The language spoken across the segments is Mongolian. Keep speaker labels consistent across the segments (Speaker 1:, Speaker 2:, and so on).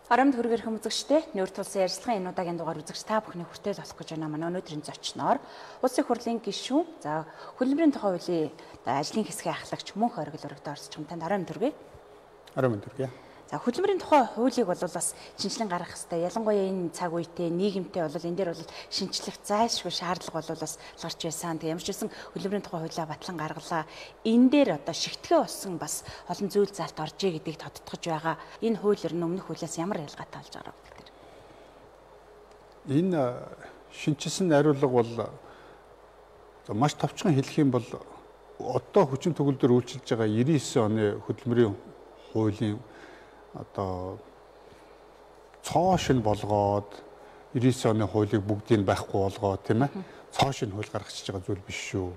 Speaker 1: Арамд хүргэр хүмүүзэгчтэй нүүр тулсан ярилцлагын энэ удаагийн дугаар үзэгч та бүхний хүртэл болох гэж байна. Манай өнөөдрийн зочноор Улсын хурлын гишүүн, за хөдөлмөрийн тухай хуулийн ажлын хэсгийн ахлагч мөн хоригл өргөдөө орсч юм танд арамд хүргэе.
Speaker 2: Арамд хүргэе.
Speaker 1: За хөдөлмөрийн тухай хуулийг бол бас шинжилэн гаргах хэрэгтэй. Ялангуяа энэ цаг үетэй нийгэмтэй бол энэ дээр бол шинжлэх зайлшгүй шаардлага бол бас гарч байсан. Тэг ямар ч байсан хөдөлмөрийн тухай хуулиа батлан гаргалаа. Энэ дээр одоо шигтгэн болсон бас олон зүйл залт орж ий гэдгийг тодтогч байгаа. Энэ хууль ер нь өмнөх хуулиас ямар ялгаатай болж байгаа вэ гэдэг.
Speaker 2: Энэ шинжилсэн найруулга бол маш товчхон хэлэх юм бол одоо хүчин төгөлдөр үйлчилж байгаа 99 оны хөдөлмөрийн хуулийн одоо цоошин болгоод 99 оны хуулийг бүгдийг байхгүй болгоод тийм ээ цоошин хууль гаргачихж байгаа зүйл биш шүү.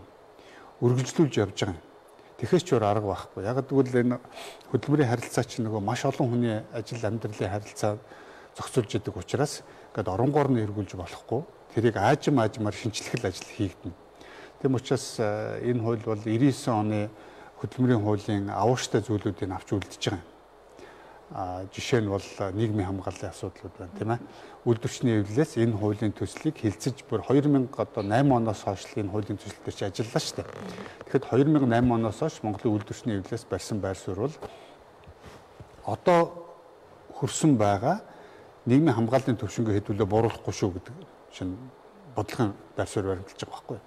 Speaker 2: Үргэлжлүүлж явж байгаа юм. Тэгэхээс ч өөр арга байхгүй. Яг гэвэл энэ хөдөлмөрийн харилцаа чинь нөгөө маш олон хүний ажил амьдралын харилцаа зохицуулж яадаг учраас ингээд оронгоор нь эргүүлж болохгүй. Тэрийг аажмаар шинчлэх ажил хийгдэнэ. Тэм учраас энэ хууль бол 99 оны хөдөлмөрийн хуулийн авууштай зүйлүүдийг авч үлдэж байгаа юм. Жишээ нь бол нийгмийн хамгааллын асуудлууд байна тийм ээ. Үйлдвэрчний эвлэлээс энэ хуулийн төслийг хилцэж бүр 2008 оноос хойш энэ хуулийн төсөл дээр чи ажиллалаа шүү дээ. Тэгэхэд 2008 оноос хойш Монголын үйлдвэрчний эвлэлээс барьсан байр суурь бол одоо хүрсэн байгаа нийгмийн хамгааллын төвшингээ хэдүүлээ бууруулахгүй шүү гэдэг шинэ бодлогын байр суурь баримталж байгаа байхгүй.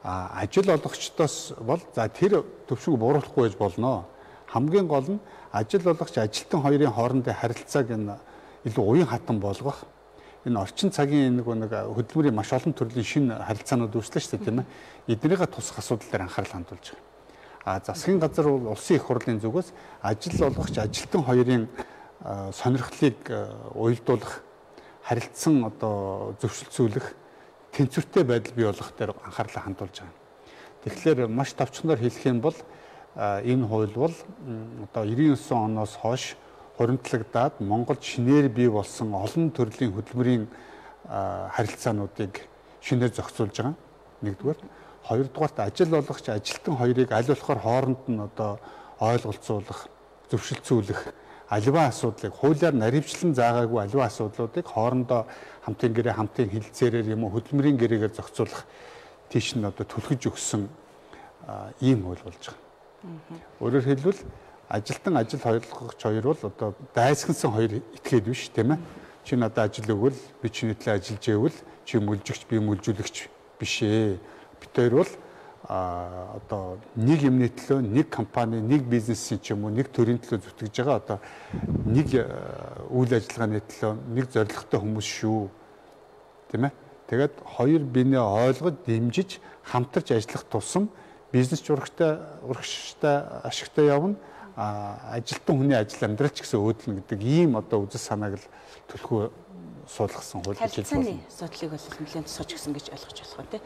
Speaker 2: Ажил олгогчдоос бол за тэр төвшинг бууруулахгүй байж болно. Хамгийн гол нь ажил олгогч ажилтан хоёрын хоорондын харилцааг энэ илүү уян хатан болгох. Энэ орчин цагийн нэг хөдөлмөрийн маш олон төрлийн шинэ харилцаанууд үүслээ шүү дээ тийм ээ. Эднийгээ тусах асуудал дээр анхаарал хандуулж байгаа. Засгийн газар бол улсын их хурлын зүгээс ажил олгогч ажилтан хоёрын сонирхлыг уялдуулах, харилцсан одоо зөвшөлтсүүлэх, тэнцвэртэй байдал бий болгох дээр анхаарлаа хандуулж байгаа. Тэгэхээр маш товчхоноор хэлэх юм бол энэ хууль бол одоо 99 оноос хойш хуримтлагдаад Монголд шинээр бий болсон олон төрлийн хөдөлмөрийн харилцаануудыг шинээр зохицуулж байгаа. Нэгдүгээр, хоёрдугаарт ажил олгогч ажилтан хоёрыг аль болохоор хооронд нь одоо ойлголцуулах, зөвшөлтсүүлэх аливаа асуудлыг хуулиар наривчлан заагаагүй аливаа асуудлуудыг хоорондоо хамтын гэрээ, хамтын хилцээрээр юм уу хөдөлмөрийн гэрээгээр зохицуулах тийш нь одоо түлхэж өгсөн ийм хууль болж байгаа. Өөрөөр хэлбэл ажилтан ажил хоёрлагч хоёр бол одоо дайсагнсан хоёр этгээд биш тийм ээ. Чи надад ажил өгвөл би чиний төлөө ажиллаж ивэл чи мүлжигч би мүлжүүлэгч биш ээ. Бид хоёр бол одоо нэг юмны төлөө нэг компани, нэг бизнесийн ч юм уу нэг төрийн төлөө зүтгэж байгаа одоо нэг үйл ажиллагааны төлөө нэг зорилготой хүмүүс шүү. Тийм ээ. Тэгээд хоёр биенээ ойлгож, дэмжиж, хамтарч ажиллах тусам бизнес урагштай ашигтай явна. Ажилтан хүний ажил амьдрал ч гэсэн өөдлөн гэдэг ийм одоо үзэл санааг л төлхөө суулгасан хууль гэж хэлж байна.
Speaker 1: Харилцааны асуудлыг бол нэлээд тусгаж гисэн гэж ойлгож болох тий.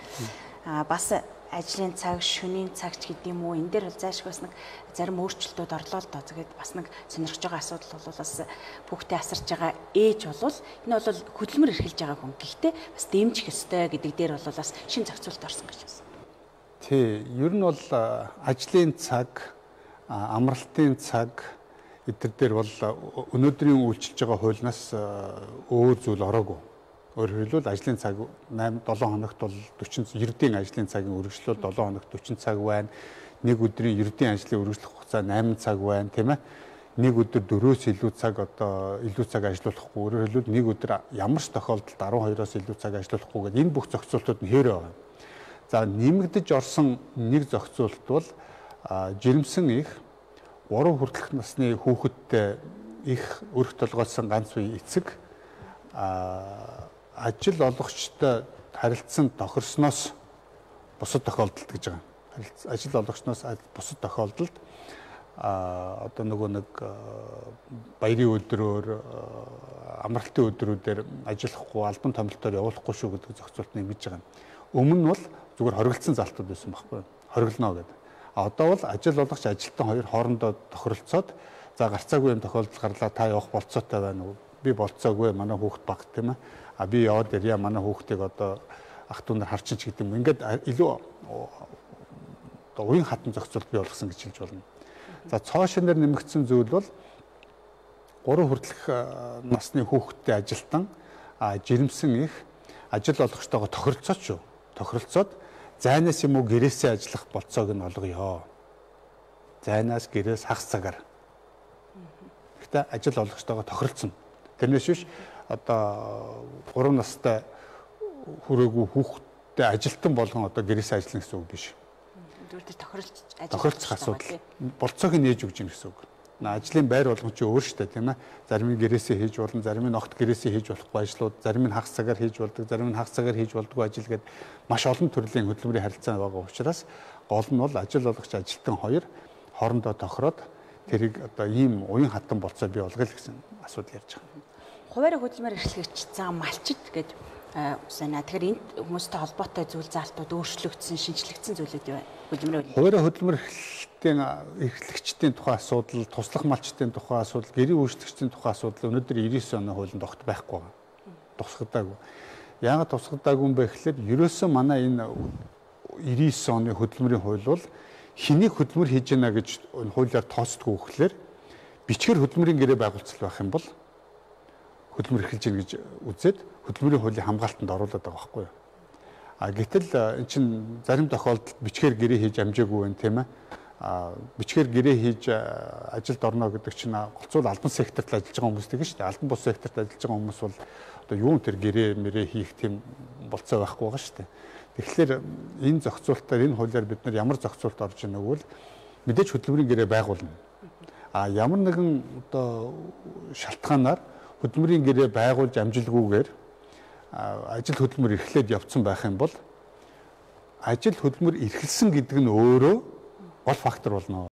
Speaker 1: Бас ажлын цаг, шөнийн цагч гэдэг юм уу энэ дээр бол зайлшгүй бас нэг зарим өөрчлөлтүүд орлоо л доо. Тэгээд бас нэг сонирхож байгаа асуудал бол бас хүүхдээ асарч байгаа ээж бол энэ бол хөдөлмөр эрхэлж байгаа хүн. Гэхдээ бас дэмжих ёстой гэдэг дээр бол бас шин зохицуулт орсон гэж байна.
Speaker 2: Тий, ер нь бол ажлын цаг, амралтын цаг эдгээр дээр бол өнөөдрийн үйлчилж байгаа хуулиас өөр зүйл ороогүй. Өөрөөр хэлбэл ажлын цаг 7 хоногт бол 40 ердийн ажлын цагийн үргэлжлэл 7 хоногт 40 цаг байна. Нэг өдрийн ердийн ажлын үргэлжлэх хугацаа 8 цаг байна, тийм ээ. Нэг өдөр 4-өөс илүү цаг одоо илүү цаг ажиллахгүй. Өөрөөр хэлбэл нэг өдөр ямар ч тохиолдолд 12-оос илүү цаг ажиллахгүй гэдэг энэ бүх зохицуултууд нь хэвээр байгаа. За нэмэгдэж орсон нэг зохицуулт бол жирэмсэн их 3 хүртэлх насны хүүхэдтэй их өрх толгойлсон ганц үе эцэг ажил олгогчтой харилцсан тохирсноос бусад тохиолдолд гэж байгаа. Ажил олгогчноос бусад тохиолдолд одоо нөгөө нэг баярын өдрөөр амралтын өдрүүдээр ажиллахгүй албан томилтоор явуулахгүй шүү гэдэг зохицуулт нэмж байгаа. Өмнө нь бол зүгээр хоригдсан залтууд байсан байхгүй. Хориглоно гэдэг. Одоо бол ажил олгогч ажилтан хоёр хоорондоо тохиролцоод за гарцаагүй юм тохиолдол гарлаа та явах болцоотой байна уу? Би болцоогүй манай хүүхэд баг тийм ээ. Би яваад ирья манай хүүхдийг одоо ах トゥ нар харчин ч гэдэг юм. Ингээд илүү одоо уян хатан зохицуулт бий болгосон гэж хэлж болно. За цоошин дээр нэмэгдсэн зүйл бол 3 хүртэлх насны хүүхэдтэй ажилтан жирэмсэн их ажил олгогчтойгоо тохиролцоод зайнаас юм уу гэрээсээ ажиллах болцоог нь олгоё. Зайнаас гэрээс хагас цагаар. Гэхдээ ажил олгогчтойгоо тохиролцсон. Тэрнээс биш одоо 3 настай хүрээгүй хүүхэдтэй ажилтан болгон одоо гэрээсээ ажиллана гэсэн үг биш.
Speaker 1: Зүгээр
Speaker 2: тохиролцох асуудал. Болцоог нь нээж өгч юм гэсэн үг. Ажлын байр болгон чи өөр штэ тийм ээ. Зарим нь гэрээсээ хийж болно, зарим нь огт гэрээсээ хийж болохгүй ажлууд, зарим нь хагас цагаар хийж болдог, зарим нь хагас цагаар хийж болдгоо ажил гэдэг маш олон төрлийн хөдөлмөрийн харилцаа байгаа учраас гол нь бол ажил олгогч ажилтан хоёр хоорондоо тохироод тэрийг одоо ийм уян хатан болцоо бий болгоё гэсэн асуудал ярьж байгаа.
Speaker 1: Хуваарь хөдөлмөр эрхлэгч зам малчит гэдэг санаа. Тэгэхээр энд хүмүүстэй холбоотой зүйл заалтууд өөрчлөгдсөн, шинжлэгдсэн зүйлүүд юу вэ?
Speaker 2: Хуваарь хөдөлмөр эрхлэгчдийн тухай асуудал, туслах малчтын тухай асуудал, гэрийн үйлчлэгчдийн тухай асуудал өнөөдөр 99 оны хуулинд огт байхгүй байна. Тусгадаагүй. Яагаад тусгадаагүй юм бэ гэхээр ерөөсөө манай энэ 99 оны хөдөлмөрийн хууль бол хэнийг хөдөлмөр хийж гэнэ гэж хуулиар тооцдгүй гэхлээр бичгээр хөдөлмөрийн гэрээ байгуулцал байх юм бол хөдөлмөр эрхэлж гэнэ гэж үзээд хөдөлмөрийн хуулийн хамгаалтанд оруулаад байгаа байхгүй юу? Гэтэл эн чинь зарим тохиолдолд бичгээр гэрээ хийж амжаагүй байх тийм ээ. Бичгээр гэрээ хийж ажилд орно гэдэг чинь голцол албан секторт ажиллаж байгаа хүмүүс тийм шүү дээ. Албан бус секторт ажиллаж байгаа хүмүүс бол одоо юун тэр гэрээ мэрээ хийх тийм болцоо байхгүй байгаа шүү дээ. Тэгэхээр энэ зохицуултаар энэ хуулиар бид нар ямар зохицуулт орж ийнэ гэвэл мэдээж хөдөлмөрийн гэрээ байгуулна. Ямар нэгэн одоо шалтгаанаар хөдөлмөрийн гэрээ байгуулж амжилгүйгээр ажил хөдөлмөр эрхлээд явцсан байх юм бол ажил хөдөлмөр эрхэлсэн гэдэг нь өөрөө гол фактор болно.